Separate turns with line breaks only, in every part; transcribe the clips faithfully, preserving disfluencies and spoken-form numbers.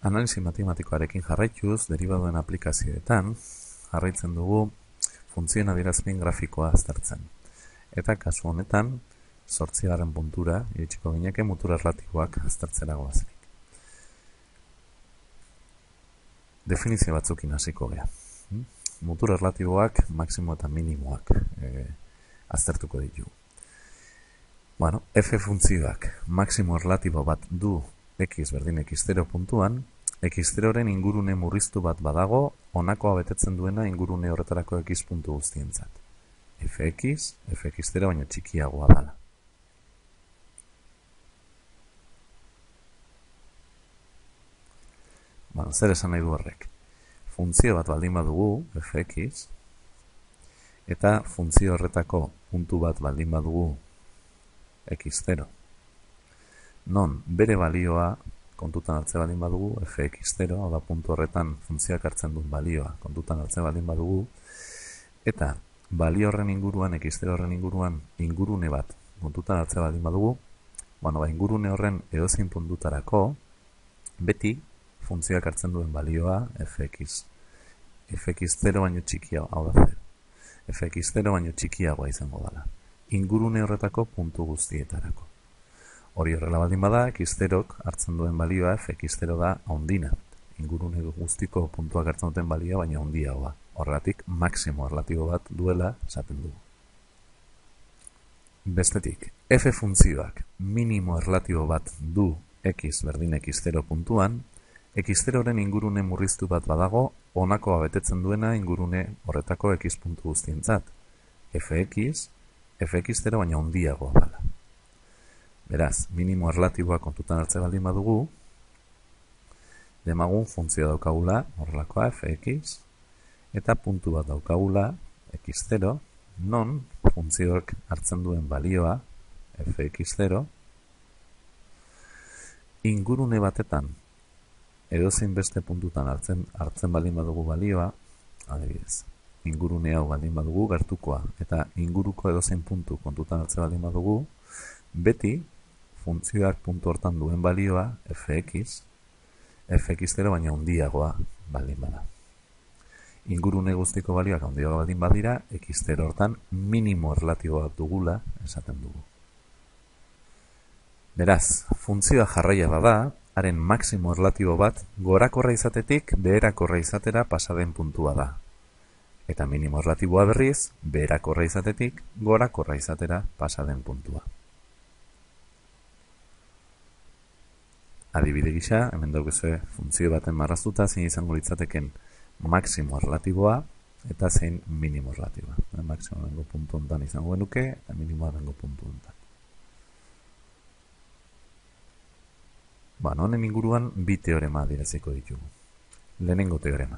Analisi matematikoarekin jarraituz, deribaduen aplikazioetan, jarraitzen dugu funtzioen adierazpen grafikoa aztertzen. Eta kasu honetan, zortzigarren puntura, iritsiko gineke mutur erlatiboak aztertzera goazenik. Definizio batzukin hasiko gea. Mutur erlatiboak, maksimo eta minimoak e, aztertuko ditugu. Bueno, f funtzioak maksimo erlatibo bat du x berdin x zero puntuan, x zeroren ingurune murriztu bat badago, honakoa betetzen duena ingurune horretarako x puntu guztientzat. Fx, fx zero baino txikiagoa dala. Bueno, zer esan nahi du horrek? Funtzio bat baldin badugu, fx, eta funtzio horretako puntu bat baldin badugu x zero. Non, bere balioa kontutan hartze baldin badugu, fx zero, hau da puntu horretan funtzioak hartzen duen balioa kontutan hartze baldin badugu, eta balio horren inguruan, x zero horren inguruan, ingurune bat kontutan hartze baldin badugu, bueno, ba, ingurune horren edozein puntutarako, beti funtzioak hartzen duen balioa fx. fx zero baino txikiagoa, hau da zero. fx zero baino txikiagoa izango dela. Ingurune horretako puntu guztietarako. Hori horrela baldin bada, x zerok hartzen duen balioa fx zero da handina. Ingurune guztiko puntuak hartzen duten balioa baina handiagoa. Horregatik, maksimo erlatibo bat duela esaten dugu. Bestetik, f funtzioak minimo erlatibo bat du x berdin x zero puntuan, x zeroren ingurune murriztu bat badago, honakoa betetzen duena ingurune horretako x puntu guztientzat. fx, fx zero baina handiagoa dela. Beraz, minimo erlatiboa kontutan hartze baldin badugu, demagun funtzio daukagula, horrelakoa fx, eta puntu bat daukagula, x zero, non funtzioak hartzen duen balioa, fx zero, ingurune batetan, edozein beste puntutan hartzen, hartzen baldin badugu balioa, adibidez, ingurune hau baldin badugu gertukoa, eta inguruko edozein puntu kontutan hartzen baldin badugu, beti funtzioak puntu hortan duen balioa fx, fx zero baina handiagoa baldin bada. Ingurune guztiko balioak handiagoa baldin badira, x zero hortan minimo erlatiboa dugula esaten dugu. Beraz, funtzioa jarraia bada, haren maksimo erlatibo bat gorakorra izatetik beherakorra izatera pasaden puntua da. Eta minimo erlatiboa berriz, beherakorra izatetik gorakorra izatera pasaden puntua. Adibide gisa, hemen daukazue funtzio baten marraztuta zein izango litzateken maksimo erlatiboa eta zein minimo erlatiboa. Maksimo bengo puntu hontan izango genuke eta minimoa bengo puntu hontan. Bueno, honen inguruan bi teorema adieraziko ditugu. Lehenengo teorema.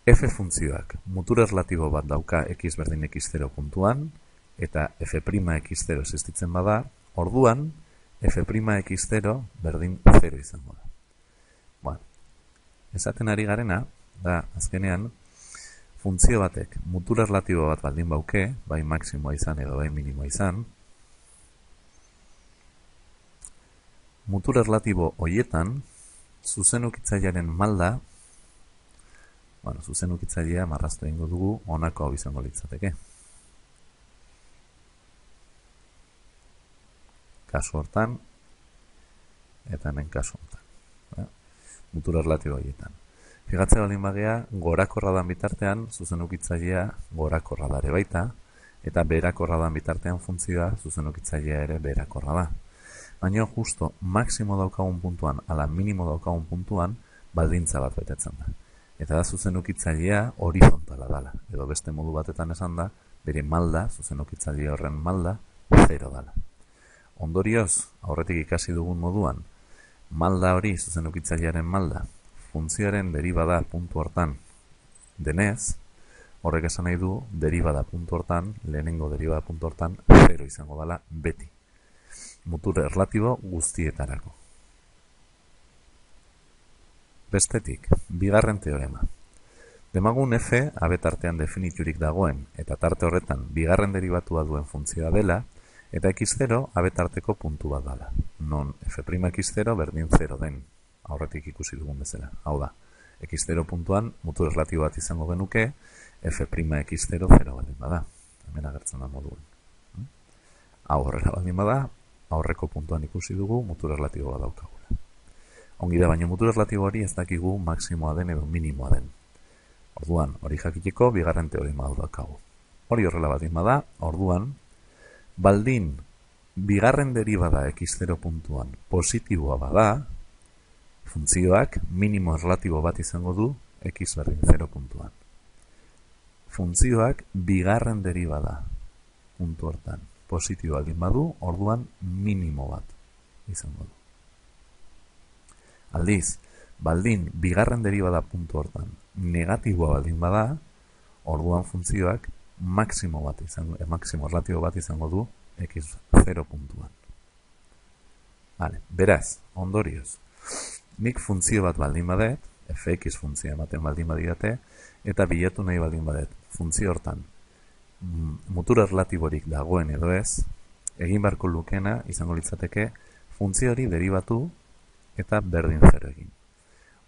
F funtzioak mutur erlatibo bat dauka x berdin x zero puntuan eta f' x zero existitzen bada, orduan f' x zero berdin zero izango da. Bueno, esaten ari garena, da azkenean, funtzio batek mutur erlatibo bat baldin bauke, bai maksimoa izan edo bai minimoa izan, mutur erlatibo hoietan, zuzenukitzailearen malda, bueno, zuzenukitzailea marraztu egingo dugu, honako hau izango litzateke. Kasu hortan, eta hemen kasu hortan. Eh? Mutur erlatibo hoietan. Figatze baldin bagea, gorakorra dan bitartean, zuzenukitzailea gorakorra dare baita, eta beherakorra dan bitartean funtzioa zuzenukitzailea ere beherakorra da. Baina justo maksimo daukagun puntuan, ala minimo daukagun puntuan, baldintza bat betetzen da. Eta da zuzenukitzailea horizontala dala. Edo beste modu batetan esan da, bere malda, zuzenukitzailea horren malda, zero dala. Ondorioz, aurretik ikasi dugun moduan, malda hori, zuzenukitzailearen malda, funtzioaren deribada puntu hortan denez, horrek esan nahi du, deribada puntu hortan, lehenengo deribada puntu hortan, zero izango dala beti. Mutur erlatibo guztietarako. Bestetik, bigarren teorema. Demagun f abetartean definiturik dagoen eta tarte horretan bigarren deribatua duen funtzioa dela eta x zero abetarteko puntu bat dela. Non f' x zero berdin zero den. aurretik ikusi dugun bezala. Hau da, x zero puntuan mutur erlatibo bat izango genuke, f' x zero zero baldin bada. Hemen agertzen da moduan. Hau horrela baldin bada, aurreko puntuan ikusi dugu mutur erlatibo bat daukagula. Ongi da, baina mutur erlatibo hori ez dakigu maksimoa den edo minimoa den. Orduan, hori jakiteko bigarren teorema hau daukagu. Hori horrela baldin bada, orduan, baldin bigarren deribada x zero puntuan positiboa bada, funtzioak minimo erlatibo bat izango du x berdin zero puntuan. Funtzioak bigarren deribada puntu hortan positibo baldin badu, orduan minimo bat izango du. Aldiz, baldin bigarren deribada puntu hortan negatiboa baldin bada, orduan funtzioak maksimo bat izango, eh, maksimo erlatibo bat izango du x zero puntuan. Vale, beraz, ondorioz, nik funtzio bat baldin badet, fx funtzioa ematen baldin badidate, eta bilatu nahi baldin badet, funtzio hortan mutur erlatiborik dagoen edo ez, egin beharko lukena izango litzateke funtzio hori deribatu eta berdin zero egin.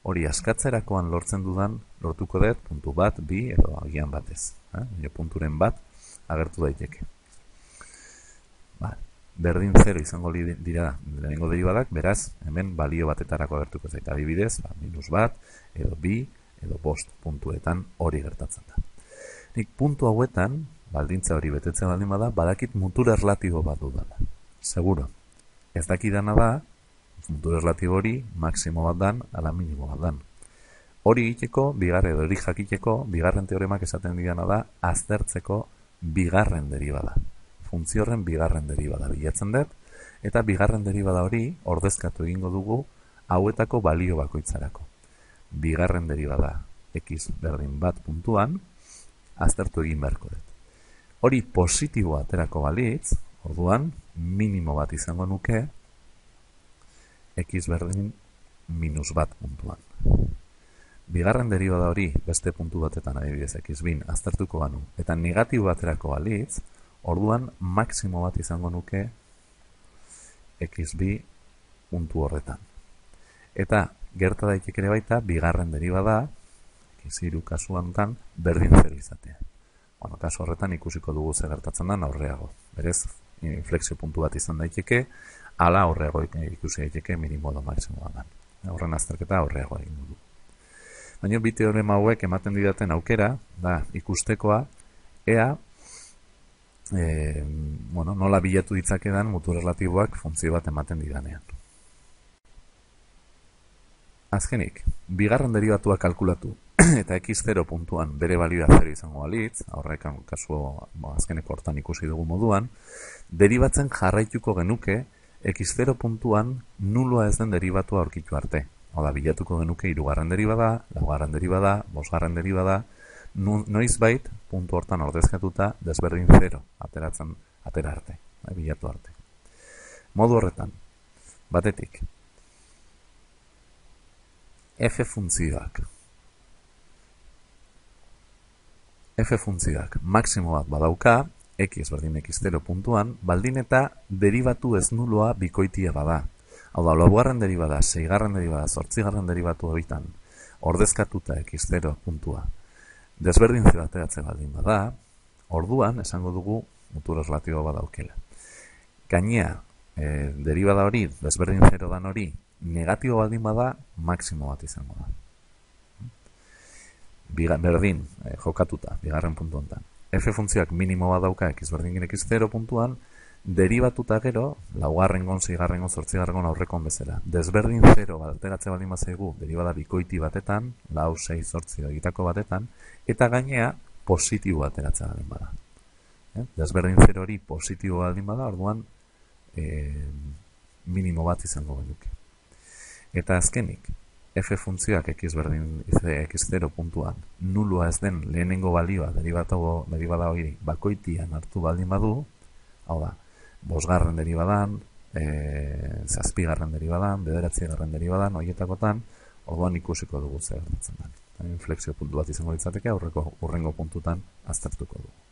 Hori askatzerakoan lortzen dudan, lortuko dut puntu bat, bi edo agian batez. Eh? Punturen bat agertu daiteke. Ba, berdin zero izango dira lehenengo deribadak, beraz, hemen balio batetarako agertuko zaita. Adibidez, ba, minus bat, edo bi, edo bost puntuetan hori gertatzen da. Nik puntu hauetan, baldintza hori betetzen baldin bada, badakit mutur erlatibo bat dudala. Seguro. Ez dakidana da, mutur erlatibo hori maksimo bat dan, ala minimo bat dan. Hori egiteko, bigarren edo hori jakiteko, bigarren teoremak esaten digana da, aztertzeko bigarren deribada. Funtzio horren bigarren deribada bilatzen dut, eta bigarren deribada hori ordezkatu egingo dugu hauetako balio bakoitzarako. Bigarren deribada x berdin bat puntuan, aztertu egin beharko dut. Hori positiboa aterako balitz, orduan, minimo bat izango nuke, x berdin minus bat puntuan. Bigarren deribada hori beste puntu batetan adibidez x bin aztertuko banu, eta negatibo baterako balitz, orduan maksimo bat izango nuke x bi puntu horretan. Eta gerta daiteke ere baita, bigarren deribada, x hiru kasuan berdin zero izatea. Bueno, kasu horretan ikusiko dugu zer gertatzen da aurreago. Berez, inflexio puntu bat izan daiteke, ala aurreago ikusi daiteke minimo edo maksimo bat. Horren azterketa aurreago egin dugu. Baina bi teorema hauek ematen didaten aukera, da ikustekoa, ea, e, bueno, nola bilatu ditzakedan mutur erlatiboak funtzio bat ematen didanean. Azkenik, bigarren derivatua kalkulatu eta x zero puntuan bere balioa zero izango balitz, horrekan kasu azkeneko hortan ikusi dugu moduan, deribatzen jarraituko genuke x zero puntuan nuloa ez den derivatua aurkitu arte. Hau da, bilatuko genuke hirugarren deribada, laugarren deribada, bosgarren deribada, noizbait puntu hortan ordezkatuta desberdin zero ateratzen atera arte, bilatu arte. Modu horretan, batetik, f funtzioak f funtzioak maksimo bat badauka, x berdin x zero puntuan, baldin eta deribatu ez nuloa bikoitia bada. Hau da, laugarren deribada, seigarren deribada, zortzigarren deribatu horitan, ordezkatuta x zero puntua, desberdin zero ateratzen baldin bada, orduan esango dugu mutur erlatibo badaukela. Gainea, e, deribada hori, desberdin zero dan hori, negatibo baldin bada, maksimo bat izango da. Biga, berdin, eh, jokatuta, bigarren puntu honetan. F funtzioak minimo bat dauka x berdin x zero puntuan, deribatuta gero, laugarrengon, seigarrengon, zortzigarrengon aurrekon bezala. Desberdin zero bat ateratzen baldin bazaigu, deribada bikoiti batetan, lau, sei, zortzi egitako batetan, eta gainea positibo ateratzen baldin bada. Eh? Desberdin zero hori positibo baldin bada, orduan eh, minimo bat izango genuke. Eta azkenik, f funtzioak x berdin x zero puntuan nuloa ez den lehenengo balioa deribada hori bakoitian hartu baldin badu, hau da, bosgarren deribadan, e, zazpigarren deribadan, bederatzigarren deribadan, horietakotan, orduan ikusiko dugu zer gertatzen da. Inflexio puntu bat izango litzateke, aurreko urrengo puntutan aztertuko dugu.